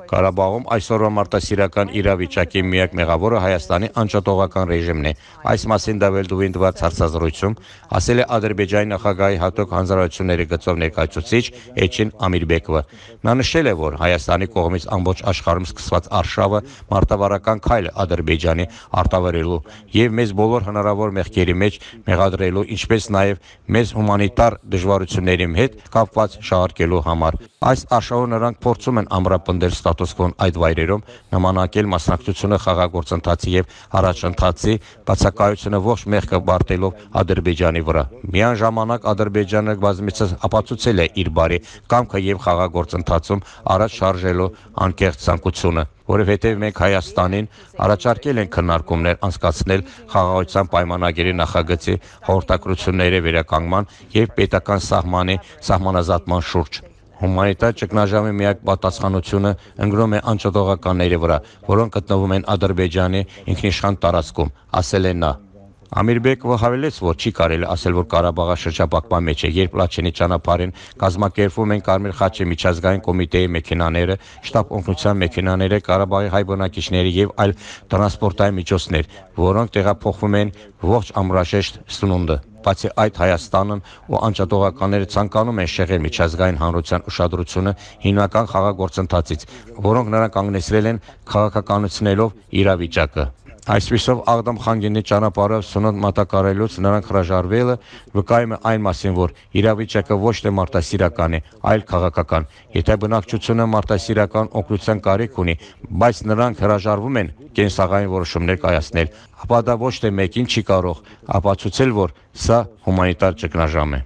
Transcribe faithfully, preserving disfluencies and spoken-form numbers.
Ղարաբաղում այսօրվա մարդասիրական իրավիճակի միակ մեղավորը Հայաստանի անջատողական ռեժիմն է։ Այս մասին Դավիլդովին տված հարցազրույցում ասել է Ադրբեջանի նախագահի հատուկ հանձնարարությունների գծով ներկայացուցիչ Էլչին Ամիրբեկովը։ Նա նշել է, որ Հայաստանի կողմից ամբողջ աշխարհում սկսված արշավը մարտավարական քայլ է Ադրբեջանի արտավերելու եւ մեզ բոլոր հնարավոր մեղքերի մեջ մեղադրելու, ինչպես նաեւ մեզ հումանիտար դժվարությունների հետ կապված շահարկելու համար։ Այս արշավով նրանք փորձում են ամրապնդել ստատուս կվոն այդ վայրերում, նմանակել մասնակցությունը խաղաղագործընթացի եւ առաջընթացի բացակայությունը ողջ մեղքը բարտելով Ադրբեջանի վրա։ Միաժամանակ Ադրբեջանը բազմիցս ապացուցել է իր բարի կամքը եւ խաղաղագործընթացում առաջ շարժելու անկեղծ ցանկությունը, որովհետեւ մենք Հայաստանին առաջարկել ենք քննարկումներ անցկացնել խաղաղության պայմանագիրի նախագծի հաղորդակցությունների վերականգնման եւ պետական սահմանի սահմանազատման շուրջ։ Հումանիտար ճգնաժամի միակ պատասխանությունը ընկնում է անջատողականների վրա, որոնք գտնվում են Ադրբեջանի ինքնիշխան տարածքում, ասել է նա։ Ամիրբեկովը հավելեց, որ չի կարելի ասել, որ Ղարաբաղը շրջափակման մեջ է, երբ Լաչինի ճանապարհին կազմակերպվում են Կարմիր խաչի միջազգային կոմիտեի մեքենաները, շտաբ օգնության մեքենաները, Ղարաբաղի հայ բնակիչների եւ այլ տրանսպորտային միջոցներ, որոնք տեղափոխվում են ողջ ամրաշեշտ սնունդը։ Բացի այդ, Հայաստանն ու անջատողականները ցանկանում են շեղել միջազգային հանրության ուշադրությունը հիմնական խաղաղագործընթացից, որոնք նրանք կանգնեցրել են քաղաքականացնելով իրավիճակը։ Այսպիսով Աղդամ Խանգենի ճանապարհով սնունդ մատակարարելուց նրանք հրաժարվելը վկայում է այն մասին, որ իրավիճակը ոչ թե մարդասիրական է, այլ քաղաքական։ Եթե բնակչությունը մարդասիրական օգնության կարիք ունի, բայց նրանք հրաժարվում են կենսաղային որոշումներ կայացնել, ապա դա ոչ թե մեկին չի կարող ապացուցել, որ սա հումանիտար ճգնաժամ է։